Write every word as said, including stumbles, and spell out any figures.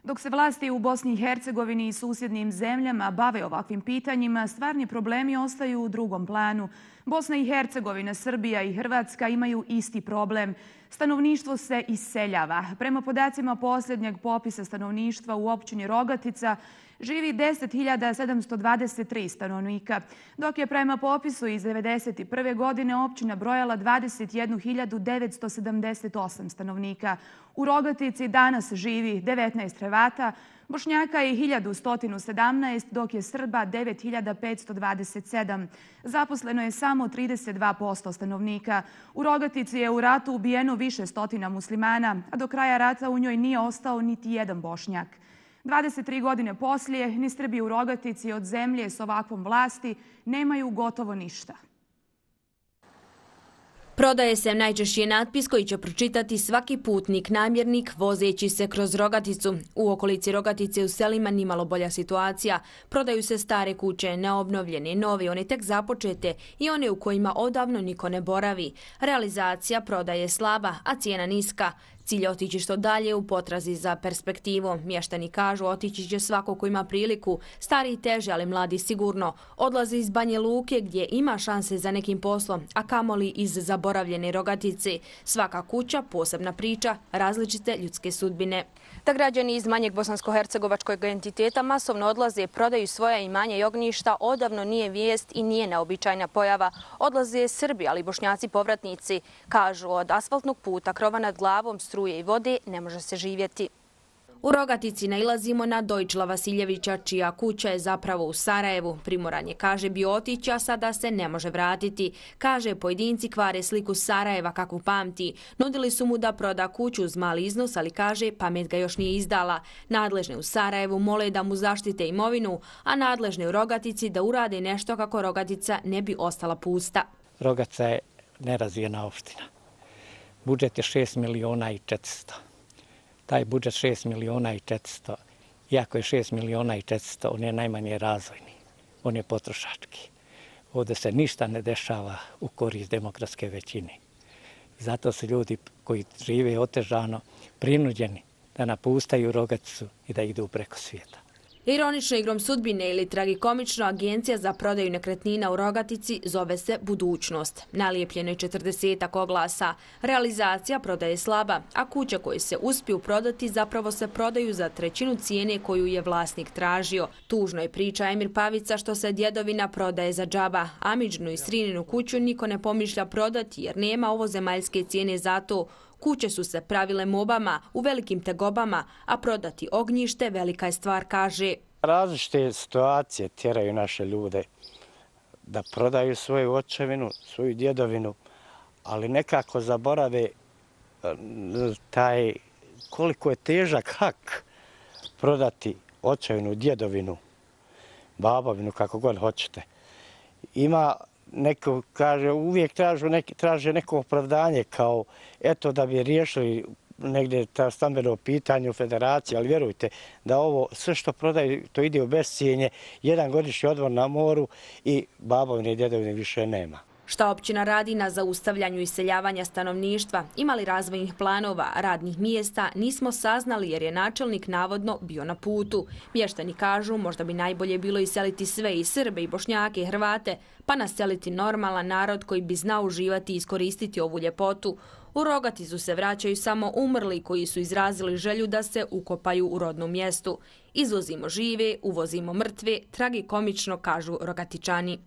Dok se vlasti u Bosni i Hercegovini i susjednim zemljama bave ovakvim pitanjima, stvarni problemi ostaju u drugom planu. Bosna i Hercegovina, Srbija i Hrvatska imaju isti problem. Stanovništvo se iseljava. Prema podacima posljednjeg popisa stanovništva u općini Rogatica živi deset hiljada sedamsto dvadeset tri stanovnika, dok je prema popisu iz devedeset prve. godine općina brojala dvadeset jednu hiljadu devetsto sedamdeset osam stanovnika. U Rogatici danas živi devetnaest Hrvata, Bošnjaka je hiljadu sto sedamnaest, dok je Srba devet hiljada petsto dvadeset sedam. Zaposleno je samo trideset dva posto stanovnika. U Rogatici je u ratu ubijeno više stotina muslimana, a do kraja rata u njoj nije ostao niti jedan Bošnjak. dvadeset tri godine poslije, ni Srbi u Rogatici od zemlje s ovakvom vlasti nemaju gotovo ništa. Prodaje se najčešći natpis koji će pročitati svaki putnik, namjernik, vozeći se kroz Rogaticu. U okolici Rogatice u selima nimalo bolja situacija. Prodaju se stare kuće, neobnovljene, nove, one tek započete i one u kojima odavno niko ne boravi. Realizacija prodaje slaba, a cijena niska. Cilj je otići što dalje u potrazi za perspektivom. Mještani kažu otići će svako ko ima priliku, stari i teže, ali mladi sigurno. Odlaze iz Banje Luke gdje ima šanse za nekim poslom, a kamoli iz zaboravljene Rogatice. Svaka kuća, posebna priča, različite ljudske sudbine. Da građani iz manjeg bosansko-hercegovačkog entiteta masovno odlaze, prodaju svoja imanja i ognjišta, odavno nije vijest i nije neobičajna pojava. Odlaze Srbi, ali Bošnjaci povratnici. Kažu, od asfaltnog puta, krova nad glavom, struje i vode ne može se živjeti. U Rogatici nailazimo na Dojčila Vasiljevića, čija kuća je zapravo u Sarajevu. Primoran je, kaže, bio otići, a sada se ne može vratiti. Kaže, pojedinci kvare sliku Sarajeva kakvu pamti. Nudili su mu da proda kuću uz mali iznos, ali kaže, pamet ga još nije izdala. Nadležne u Sarajevu mole da mu zaštite imovinu, a nadležne u Rogatici da urade nešto kako Rogatica ne bi ostala pusta. Rogatica je nerazvijena opština. Budžet je šest miliona i četiristo. Taj budžet šest miliona i četiristo, iako je šest miliona i četiristo, on je najmanje razvojni, on je potrošački. Ovdje se ništa ne dešava u korist demokratske većine. Zato su ljudi koji žive otežano prinuđeni da napustaju Rogaticu i da idu preko svijeta. Ironično igrom sudbine ili tragikomično, agencija za prodaju nekretnina u Rogatici zove se Budućnost. Nalijepljeno je četrdesetak oglasa. Realizacija prodaje slaba, a kuće koje se uspiju prodati zapravo se prodaju za trećinu cijene koju je vlasnik tražio. Tužno je priča Emir Pavica što se djedovina prodaje za džaba. Amidžnu i Srininu kuću niko ne pomišlja prodati jer nema ovozemaljske cijene za to. Kuće su se pravile mobama, u velikim tegobama, a prodati ognjište velika je stvar, kaže. Različite situacije tjeraju naše ljude da prodaju svoju očevinu, svoju djedovinu, ali nekako zaborave taj koliko je težak hak prodati očevinu, djedovinu, babovinu, kako god hoćete. Ima neko, kaže, uvijek traže, neki, traže neko opravdanje kao eto da bi riješili negdje ta stambeno pitanje u federaciji, ali vjerujte da ovo sve što prodaju to ide u bescijenje, jedan godišnji odmor na moru i babovine i djedovine više nema. Šta općina radi na zaustavljanju iseljavanja stanovništva, ima li razvojnih planova, radnih mjesta, nismo saznali jer je načelnik navodno bio na putu. Mještani kažu možda bi najbolje bilo iseliti sve i Srbe i Bošnjake i Hrvate, pa naseliti normalan narod koji bi znao uživati i iskoristiti ovu ljepotu. U Rogaticu se vraćaju samo umrli koji su izrazili želju da se ukopaju u rodnom mjestu. Izvozimo žive, uvozimo mrtve, tragikomično kažu Rogatičani.